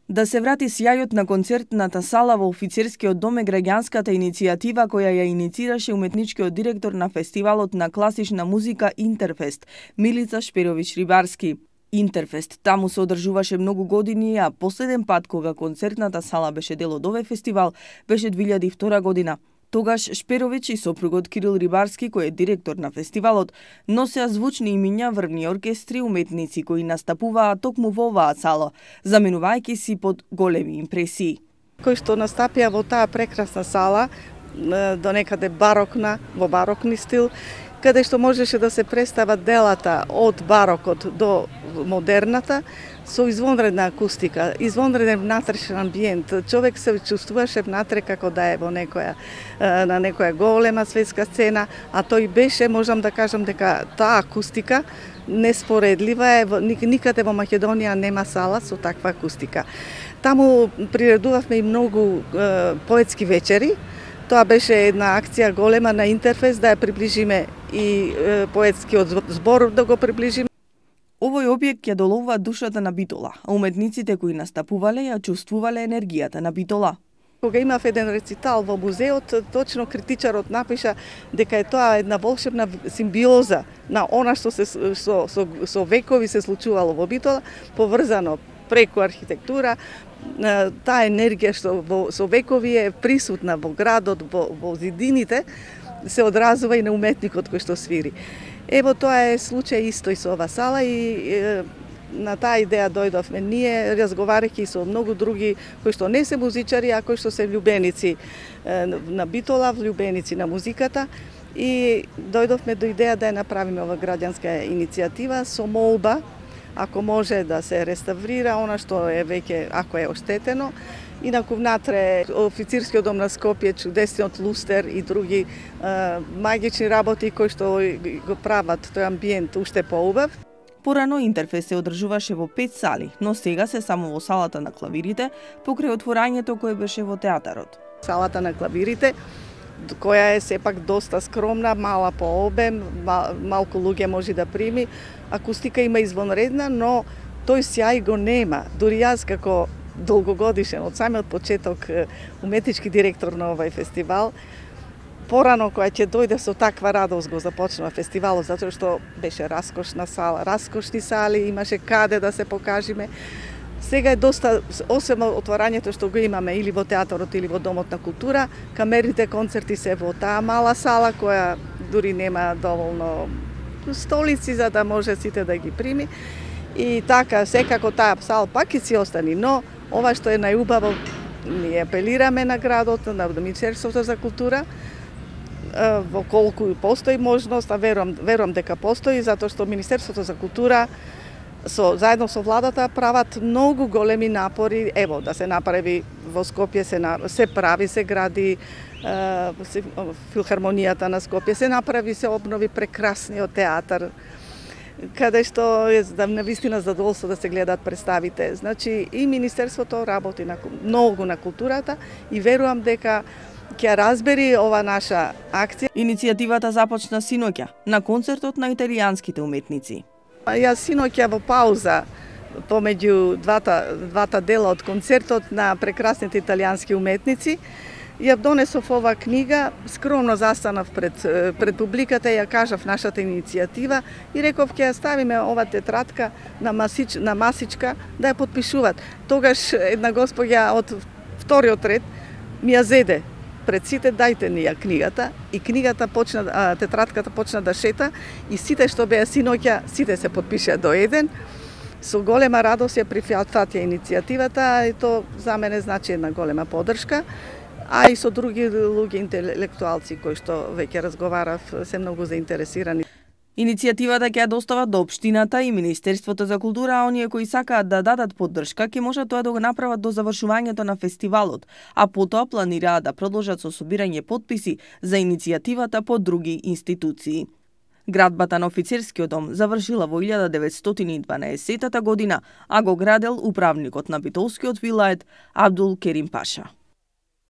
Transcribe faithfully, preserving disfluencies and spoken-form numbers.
Да се врати сјајот на концертната сала во офицерскиот дом е граѓанската иницијатива која ја иницираше уметничкиот директор на фестивалот на класична музика Интерфест, Милица Шперовиќ-Рибарски. Интерфест таму се одржуваше многу години, а последен пат кога концертната сала беше дел од овој фестивал беше две илјади и втора година. Тогаш Шперовиќ и сопругот Кирил Рибарски, кој е директор на фестивалот, носеа звучни имиња, врвни оркестри, уметници кои настапуваа токму во оваа сала, заменувајќи си под големи импресии. Кои што настапија во таа прекрасна сала, до некаде барокна, во барокни стил, каде што можеше да се представат делата од барокот до модерната, со извонредна акустика, извонреден внатрешен амбиент. Човек се чувствуваше внатре како да е во некоја на некоја голема светска сцена, а тој беше, можам да кажам дека таа акустика неспоредлива е, никаде во Македонија нема сала со таква акустика. Таму приредувавме и многу е, поетски вечери. Тоа беше една акција голема на Интерфест да ја приближиме и е, поетскиот збор да го приближиме. Овој објект ја доловува душата на Битола, а уметниците кои настапувале ја чувствувале енергијата на Битола. Кога имав еден рецитал во музеот, точно критичарот напиша дека е тоа една волшебна симбиоза на она што се со, со, со векови се случувало во Битола, поврзано преку архитектура, таа енергија што во, со векови е присутна во градот, во, во зидините, се одразува и на уметникот кој што свири. Ево тоа е случај исто и со ова сала и е, на таа идеја дојдовме ние, разговарајќи со многу други кои што не се музичари, а кои што се влюбеници е, на Битола, влюбеници на музиката, и дојдовме до идеја да ја направиме ова граѓанска иницијатива со молба, ако може да се реставрира она што е веќе, ако е оштетено. Инаку внатре официрскиот дом на Скопје, чудесниот лустер и други е, магични работи кои што го прават тој амбиент уште поубав. Порано Интерфест се одржуваше во пет сали, но сега се само во салата на клавирите, покрај отворањето кое беше во театарот. Салата на клавирите, која е сепак доста скромна, мала по обем, мал, малку луѓе може да прими. Акустика има извонредна, но тој сјај го нема. Дури јас како долгогодишен, од самиот почеток уметнички директор на овој фестивал, порано која ќе дојде со таква радост го започнува фестивалот, затоа што беше раскошна сала, раскошни сали, имаше каде да се покажиме. Сега е доста, освен отворањето што го имаме или во театарот или во Домот на култура, камерните концерти се во таа мала сала која дури нема доволно столици за да може сите да ги прими. И така, секако таа сала пак и си остани, но ова што е најубаво, ние апелираме на градот, на Министерството за култура, во колку постои можност, а верувам, верувам дека постои, затоа што Министерството за култура со, заедно со владата прават многу големи напори, ево, да се направи во Скопје, се, се прави, се гради се, филхармонијата на Скопје, се направи, се обнови прекрасниот театар, каде што е да навистина задоволство да се гледаат представите. Значи и Министерството работи на, многу на културата и верувам дека ќе разбери ова наша акција. Иницијативата започна синоќа на концертот на италијанските уметници. Јас синоќа во пауза помеѓу двата, двата дела од концертот на прекрасните италијански уметници, ја донесов ова книга, скромно застанав пред, пред публиката и ја кажав нашата иницијатива и реков ќе ја ставиме ова тетрадка на, масич, на масичка да ја подпишуваат. Тогаш една госпоѓа од вториот ред ми ја зеде пред сите, дајте ни ја книгата, и книгата почна, тетрадката почна да шета и сите што беа синоќа, сите се подпишаа до еден. Со голема радост ја прифатија иницијативата и то за мене значи една голема поддршка, а и со други луѓе интелектуалци кои што веќе разговарав се многу заинтересирани. Иницијативата ќе ја достават до општината и Министерството за култура, а оние кои сакаат да дадат поддршка ќе можат тоа да го направат до завршувањето на фестивалот, а потоа планираат да продолжат со собирање потписи за иницијативата по други институции. Градбата на офицерскиот дом завршила во илјада деветстотини и дванаесеттата година, а го градел управникот на Битолскиот вилает Абдул Керим Паша.